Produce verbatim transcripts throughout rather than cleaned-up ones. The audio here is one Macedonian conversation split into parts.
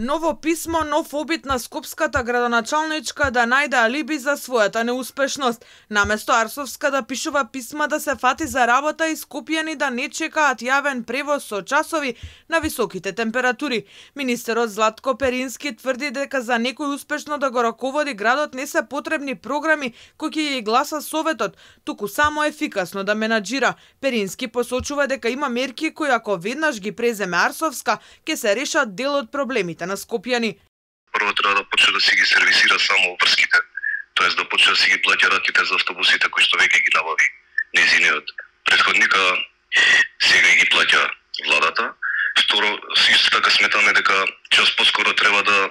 Ново писмо, нов обид на скопската градоначалничка да најде алиби за својата неуспешност. Наместо Арсовска да пишува писма да се фати за работа и скопјани да не чекаат јавен превоз со часови на високите температури. Министерот Златко Перински тврди дека за некој успешно да го раководи градот не се потребни програми кои ќе ги гласа Советот, туку само ефикасно да менаџира. Перински посочува дека има мерки кои ако веднаш ги преземе Арсовска, ќе се решат дел од проблемите на скопјани. Прво треба да почне да си ги сервисира само врските, тоест да почне да си ги плаќа ратите за автобусите кои што веќе ги набави нејзиниот претходника, сега ги плаќа владата. Второ, исто така сметаме дека час поскоро треба да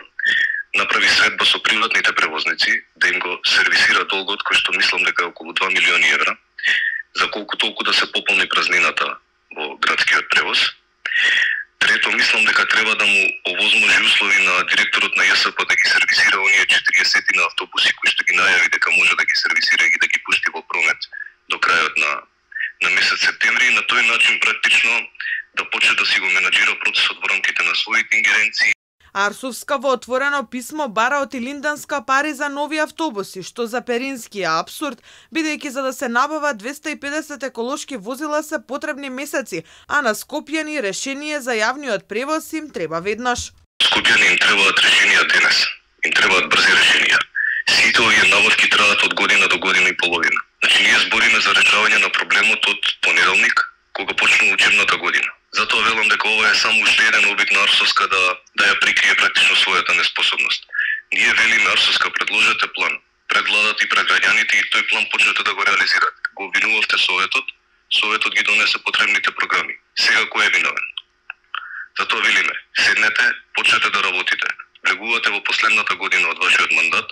направи средба со приватните превозници, да им го сервисира долгот кој што мислам дека е околу два милиони евра, за колку толку да се пополни празнината во градскиот превоз. Трето, мислам дека треба да му овозможи услови на директорот на ЈСП да ги сервисира оние четириесет на автобуси кои што ги најави дека може да ги сервисира и да ги пушти во промет до крајот на на месец септември и на тој начин практично да почне да си го менаџира процесот во рамките на своите ингеренции. Арсовска во отворено писмо бара од Илинданска пари за нови автобуси, што за Перински е апсурд, бидејќи за да се набават двесте и педесет еколошки возила се потребни месеци, а на скопјани решение за јавниот превоз им треба веднаш. Скопјани им требаат решенија денес, им требаат брзи решенија. Сите овие набавки траат од година до година и половина. Значи ние збориме за решавање на проблемот од понеделник, кога почнува учебната година. Затоа велам дека ова е само уште еден обид на Арсовска да да ја прикрие практично својата неспособност. Ние велиме Арсовска, предложете план пред владата и пред граѓаните и тој план почнете да го реализирате. Го обвинувавте Советот, Советот ги донесе потребните програми. Сега кој е виновен? Затоа велиме, седнете, почнете да работите. Влегувате во последната година од вашиот мандат,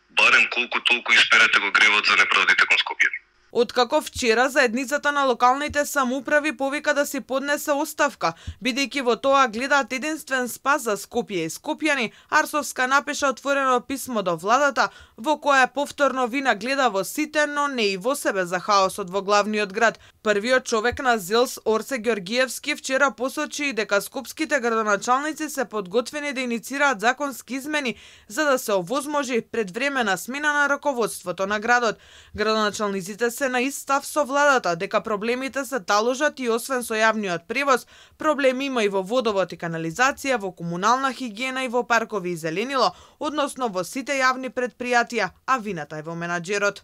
барем колку толку исперете го гревот за неправдите кон скопјани. Откако вчера заедницата на локалните самоуправи повика да си поднесе оставка, бидејќи во тоа гледаат единствен спас за Скопје и скопјани, Арсовска напиша отворено писмо до владата, во кое повторно вина гледа во сите, но не и во себе за хаосот во главниот град. Првиот човек на ЗЕЛС, Орсе Ѓоргиевски, вчера посочи и дека скопските градоначалници се подготвени да иницираат законски измени за да се овозможи предвремена смена на раководството на градот. Градоначалниците се на ист став со владата дека проблемите се таложат и освен со јавниот превоз, проблеми има и во водовод и канализација, во комунална хигиена и во паркови и зеленило, односно во сите јавни предпријатија, а вината е во менаџерот.